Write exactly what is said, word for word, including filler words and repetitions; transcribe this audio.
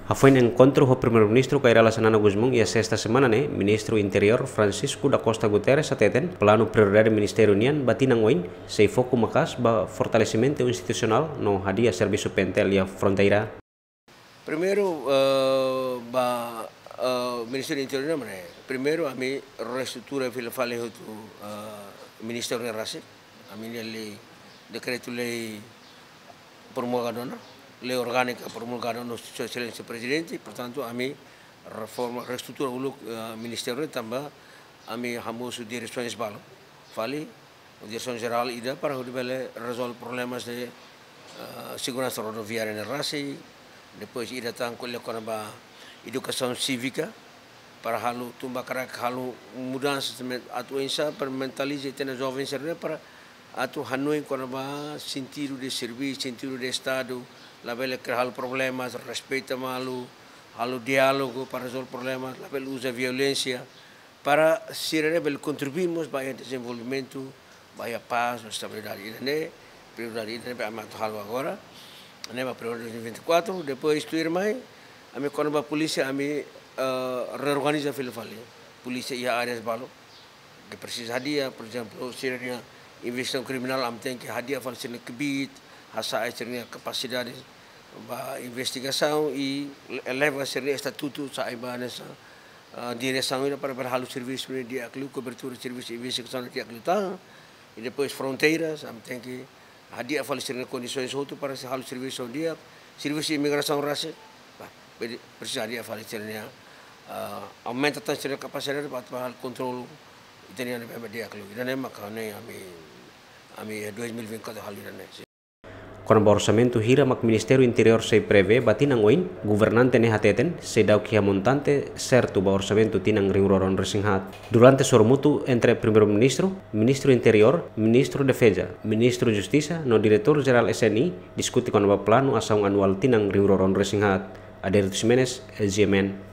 Hafoin enkontru ho Primeiru-Ministru Kay Rala Xanana Gusmão iha sesta semana ne'e, Ministru Interiór Francisco da Costa Guterres hateten, planu prioridade ministériu nian ba tinan oin sei foku maka'as ba fortalesimentu institusionál no hadi'a servisu P N T L iha fronteira. Primeiru, eh, ba, eh, Ministériu Interiór nian, primeiru ami reestrutura fila fali hotu, eh, ministériu ne'e rasik. Ami-nia lei, dekretu-lei promulgada ona, lei orgánika promulgada ona, Sua Exelénsia Prezidente, portantu, ami reforma, reestrutura uluk, eh, ministériu ne'e tanba ami hamosu diresoens balu fali, diresaun jerál ida para hodi bele rezolve problemas de, eh, seguransa rodoviária ne'e rasik, depois ida tan ko'alia kona-ba edukasaun sívika, para halo tun ba karik halo mudansa também, atu oinsá para mentaliza ita-nia joven sira-ne'e para atu hanoin kona-ba sentidu de servisu, sentidu de Estadu, labele kria halo problemas, respeita malu, halo diálogu para rezolve problemas, labele uza violénsia, para sira-ne'e bele kontribui mós ba iha dezenvolvimentu, ba iha pás no estabilidade. Ida-ne'e prioridade ida-ne'e ami atu halo agora, ne'e ba prioridade dois mil e vinte e quatro, depois tuirmai, ami kona-ba polísia, ami, eh, reorganiza fila fali polísia iha áreas balu ke presiza hadi'a, por ezemplu, sira-nia investigasaun kriminál, ami tenke hadi'a fali sira-nia kbiit, hasa'e sira-nia kapasidade ba investigasaun i eleva sira-nia estatutu, sa'e ba hanesan, ah, diresaun ida para bele halo servisu ne'e di'ak liu, kobertura servisu investigasaun di'ak liután. I depois fronteiras, ami tenke hadi'a fali sira-nia kondisoens hotu para sei halo servisu di'ak, servisu imigrasaun rasik, ba, presiza hadi'a fali sira-nia, ah, aumenta tan sira-nia kapasidade ba, ba halo kontrolu ita-nia ne'ebé di'ak liu. Ida-ne'e maka ne'e ami, ami dois mil e vinte e quatro halo ida-ne'e. Kona-ba orsamentu hira mak Ministériu Interiór sei prevee ba tinan oin, governante ne'e hateten, seidauk iha montante sertu ba orsamentu tinan rihun rua ruanulu-resin-haat. Durante sorumutu entre Primeiru-Ministru, Ministru Interiór, Ministru Defeza, Ministru Justisa no Diretór Jerál S N I, diskute kona-ba planu asaun anuál tinan rihun rua ruanulu-resin-haat. Adérito Ximenes, G M N.